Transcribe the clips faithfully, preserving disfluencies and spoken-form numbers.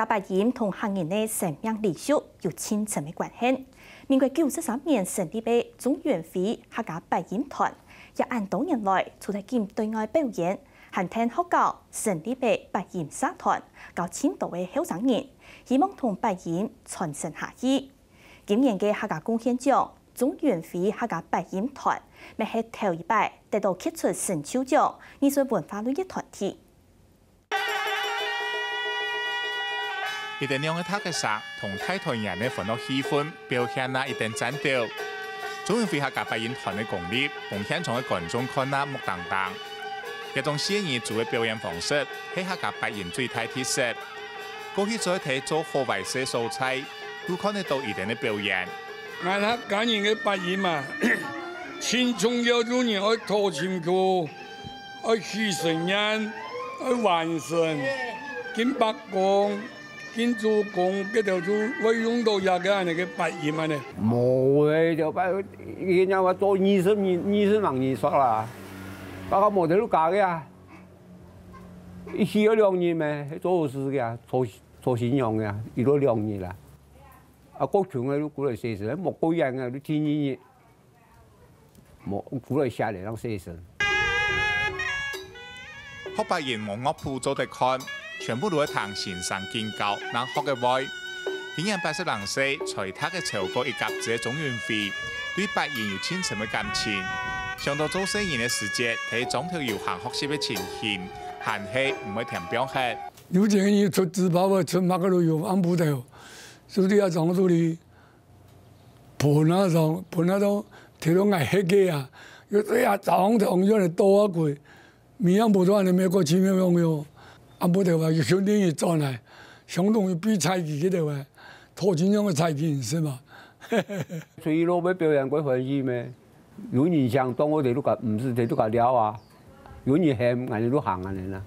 客八音同客人个生命禮俗有盡深个關係。民國九十三年成立个鍾元輝客家八音團，也恁多年來，除忒緊對外表演，還跈學校成立个八音社團，教盡多个後生人，希望同八音傳承下去。今年个客家貢獻獎，鍾元輝客家八音團，乜係頭一擺得到傑出成就獎藝術文化類个團體。 一等兩个大結煞同大團圓个歡樂氣氛，表現啊一等讚到。鍾永輝客家八音團个功力，分現場个觀眾看啊目瞪瞪。這種細人仔个表演方式，係客家八音最大特色。過去做得做好壞勢所在，都看得到佢等个表演。𠊎客家人个八音嘛，盡重要，做人愛討情趣， 愛起神念，愛還神，敬伯公，敬祖公，該兜就會用到這个恁呢个八音恁呢。無欸，就拜，人家話做二十年，二十萬年煞啦，大家無得路加个啊。一去要兩日咩，做好事个啊，做做新娘个啊，一路兩日啦。啊，過窮个就過來洗身，無過癮个就第二日。 無，苦來下來，讓細聲。學八音無樂譜做得看，全部都愛聽先生經教，正學得會。今年八十零歲，才讀个超過一甲子个鍾永輝，對八音有盡深个感情。想到做細人个時節，在莊頭遊行學習个情形，還係毋會添放忒。有一个人出紙包个，出麼个都有，暗晡頭，就在該莊肚裡 歕啊上，歕啊到，提到𠊎歇个啊，又對啊，早上頭樣个倒啊過，明暗晡都恁呢，美國奇妙用用，暗晡頭啊，又兄弟轉來，相當於比賽期个頭啊，討真正个賽期，係嘛？所以落尾表演過歡喜咩？有人想當我哋都甲，毋是，佢都甲了啊，有人喊，𠊎等都行恁呢啦。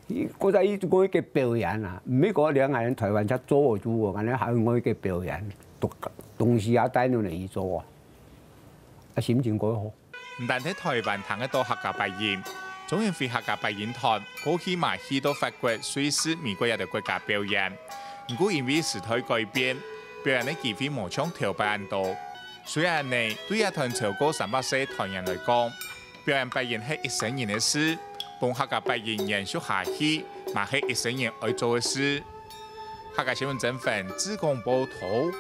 佢，佢在一直講一个表演啊，毋係講兩个人台灣才做得做，恁呢還有一个表演，東，東西啊帶落來去做啊，啊，心情過好。毋單係台灣聽得到客家八音，鍾永輝客家八音團過去嘛去到法國、瑞士、美國這兜國家表演。毋過因為時代改變，表演个機會無像頭擺恁多。雖然呢，對這團超過三百歲團員來講， 表演八音係一生人个事，分客家八音延續下去，嘛係一生人愛做个事。客家新聞曾文、志工報導。